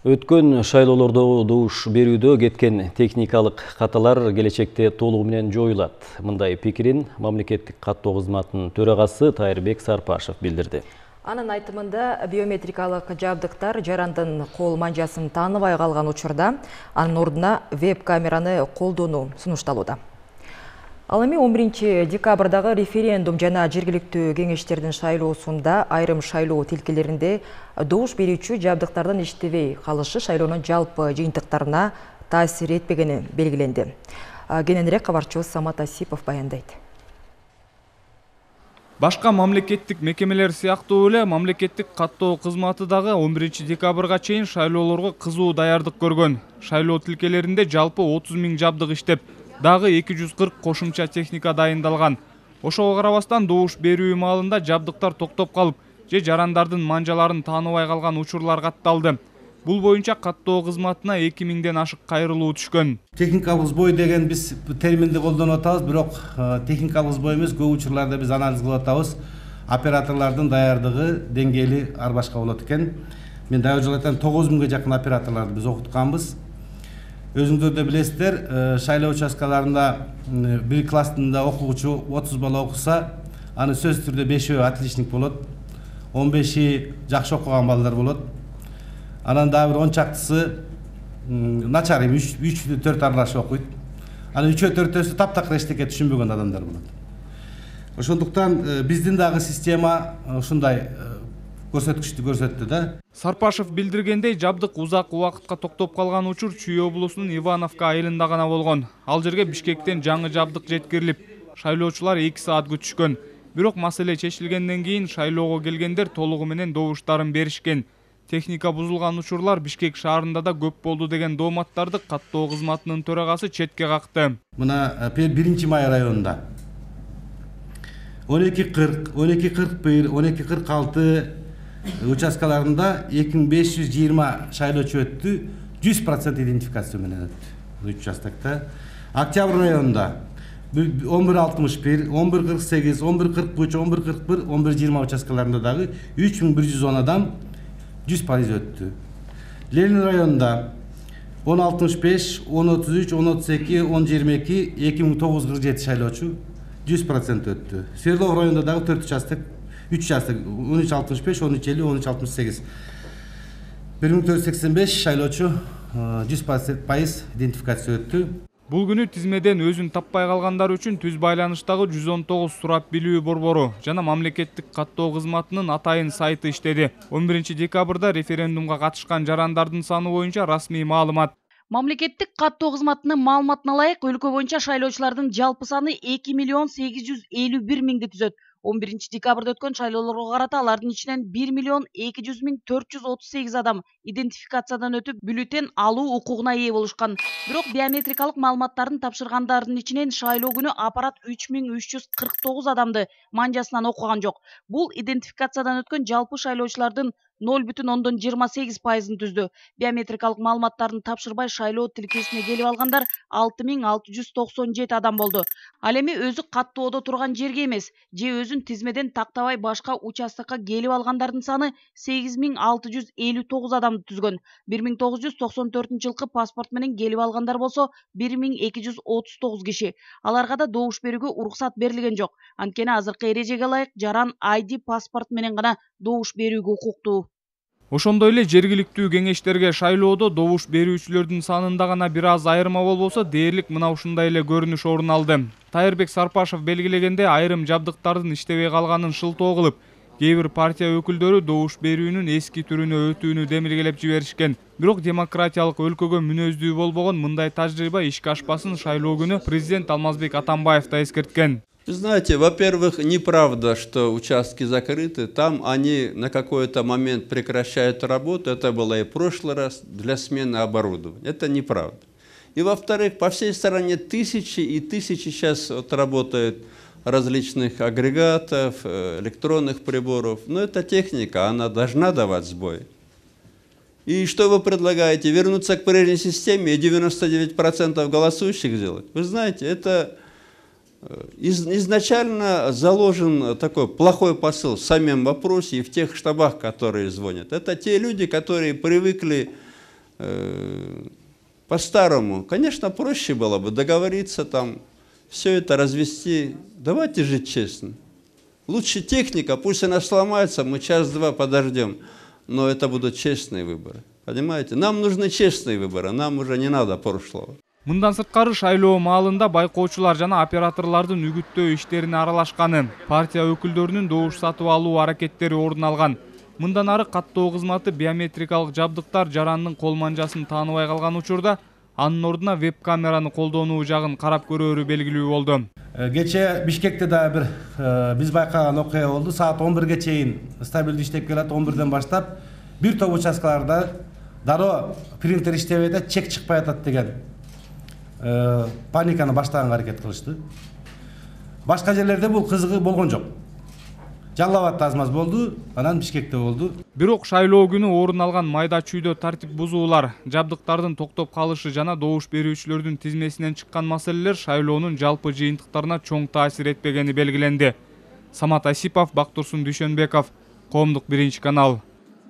Өткөн шайлоолордо добуш берүүдө кеткен техникалык каталар келечекте толугу менен жоюлат. Мындай пикирин мамлекеттик каттоо кызматынын төрагасы Тайырбек Сарпашев билдирди. Анын айтымында биометрикалык жабдыктар жарандын кол манжасын тааныбай калган учурда анын ордуна веб-камераны колдонуу сунушталууда. Ал эми 11 декабрдагы референдум жана жергиликтүү кеңештердин шайлоосунда айрым шайлоо тилкелеринде добуш берүүчү жабдыктардын иштебей калышы шайлоонун жалпы жыйынтыктарына таасир этпегени белгиленди. Кененирээк кабарчыбыз Самат Асипов баяндайт. Башка мамлекеттик мекемелер сыяктуу эле мамлекеттик каттоо кызматы дагы 11 декабрга чейин шайлоолорго кызуу даярдык көргөн. Шайлоо тилкелеринде жалпы 30 000 жабдык иштеп, дагы 240 кошумча техника дайындалган. Ошого карабастан добуш берүү маалында жабдыктар токтоп калып, же жарандардын манжаларын тааныбай калган учурлар катталды. Бул боюнча каттоо кызматына 2000ден ашык кайрылуу түшкөн. Техникалык сбой деген биз терминди колдонуп атабыз, бирок техникалык сбой эмес, көп учурларда биз анализ кылып атабыз. Операторлордун даярдыгы деңгээли ар башка болот экен. Мен дагы жолу айтам, 9000ге жакын операторлорду биз окутканбыз. Өзүңүздөр да билесиздер, шайлоо участкаларында бир класстында окуучу 30 бала окуса, аны сөзсүз түрдө 5-өө отличник болот, 15-и жакшы окуган балдар болот. Анан дагы бир 10 чактысы начар, 3-4 аралашып окуйт. Анан 3-4-өсү таптакыр эчтеке түшүнбөгөн адамдар болот. Ошондуктан биздин дагы система ушундай көрсөткүчтү көрсөттү да. Сарпашев билдиргендей, жабдык узак убакытка токтоп калган учур Чүй облусунун Ивановка айылында гана болгон. Ал жерге Бишкектен жаңы жабдык жеткирилип, шайлоочулар 2 саат күтүшкөн. Бирок маселе чечилгенден кийин шайлоого келгендер толугу менен добуштарын беришкен. Техника бузулган учурлар Бишкек шаарында да көп болду деген дооматтарды каттоо кызматынын төрагасы четке какты. Мына 1 май районунда 12:40, 12:41, 12:46 участкаларында 2520 шайлоочу өттү, 100% идентификация менен өттү. Участокта. Октябрь районунда 11:61, 11:48, 11:43, 11:41, 11:20 участкаларында дагы 3110 адам 100% өттү. Ленин районунда 10:65, 10:33, 10:32, 10:22, 2947 шайлоочу 100% өттү. Свердлов районунда дагы 4 участок, 3 участок 13:65, 13:50, 13:68. 1485 шайлоочу 100% идентификация өттү. Бул күнү тизмеден өзүн таппай калгандар үчүн түз байланыштагы 119 сурап билүү борбору жана мамлекеттик каттоо кызматынын атайын сайты иштеди. 11 декабрда референдумга катышкан жарандардын саны боюнча расмий маалымат. Мамлекеттик каттоо кызматынын маалыматына ылайык, өлкө боюнча шайлоочулардын жалпы саны 2 851 000 түзөт. 11 декабрда өткөн шайлоолорго карата алардын ичинен 1 200 438 адам идентификациядан өтүп, бюллетень алуу укугуна ээ болушкан. Бирок биометрикалык маалыматтарын тапшыргандардын ичинен шайлоо күнү аппарат 3349 адамды манжасынан окуган жок. Бул идентификациядан өткөн жалпы шайлоочулардын 0,28%-ын түздү. Биометрикалык маалыматтарын тапшырбай шайлоо тилкесине келип алгандар 6697 адам болду. Ал эми өзү каттоодо турган жерге эмес, же өзүн тизмеден тактабай башка участокко келип алгандардын саны 8659 адамды түзгөн. 1994-жылкы паспорт менен келип алгандар болсо 1239 киши. Аларга да добуш берүүгө уруксат берилген жок. Анткени азыркы эрежеге ылайык жаран ID паспорт менен гана добуш берүүгө укуктуу. Ошондой эле жергиликтүү кеңештерге шайлоодо добуш берүүчүлөрдүн санында гана бир аз айырма болбосо, дээрлик мына ушундай эле көрүнүш орун алды. Тайырбек Сарпашев белгилегенде, айрым жабдыктардын иштебей калганын шылтоо кылып, кээ бир партия өкүлдөрү добуш берүүнүн эски түрүнө өтүүнү демилгелеп жиберишкен. Бирок демократиялык өлкөгө мүнөздүү болбогон мындай тажрыйба ишке ашпасын шайлоо күнү президент Алмазбек Атамбаев да эскерткен. Вы знаете, во-первых, неправда, что участки закрыты. Там они на какой-то момент прекращают работу. Это было и в прошлый раз для смены оборудования. Это неправда. И во-вторых, по всей стране тысячи и тысячи сейчас вот работают различных агрегатов, электронных приборов. Но эта техника, она должна давать сбой. И что вы предлагаете? Вернуться к прежней системе и 99% голосующих сделать? Вы знаете, это изначально заложен такой плохой посыл в самом вопросе и в тех штабах, которые звонят. Это те люди, которые привыкли по-старому. Конечно, проще было бы договориться там, все это развести. Давайте жить честно. Лучше техника, пусть она сломается, мы час-два подождем. Но это будут честные выборы. Понимаете? Нам нужны честные выборы, нам уже не надо прошлого. Мындан сырткары шайлоо маалында байкоочулар жана операторлордун үгүттөө иштерине аралашканы, партия өкүлдөрүнүн добуш сатып алуу аракеттери орун алган. Мындан ары каттоо кызматы биометрикалык жабдыктар жарандын кол манжасын тааныбай калган учурда анын ордуна веб-камераны колдонуу жагын карап көрөөрү белгилүү болду. Кече Бишкекте да бир биз байкаган окуя болду. Саат 11ге чейин стабилдүү иштеп келет. 11ден баштап бир топ участкаларда дароо принтер иштебей атат, чек чыкпай атат деген паниканы баштаганга аракет кылышты. Башка жерлерде бул кызыгы болгон жок. Жалал Абадта аз маз болду, анан Бишкекте болду. Бирок шайлоо күнү орун алган майда чүйдө тартип бузуулар, жабдыктардын токтоп калышы жана добуш берүүчүлөрдүн тизмесинен чыккан маселелер шайлоонун жалпы жыйынтыктарына чоң таасир этпегени белгиленди. Самат Асипов, Бактурсун Дүйшөнбеков, Коомдук 1 канал.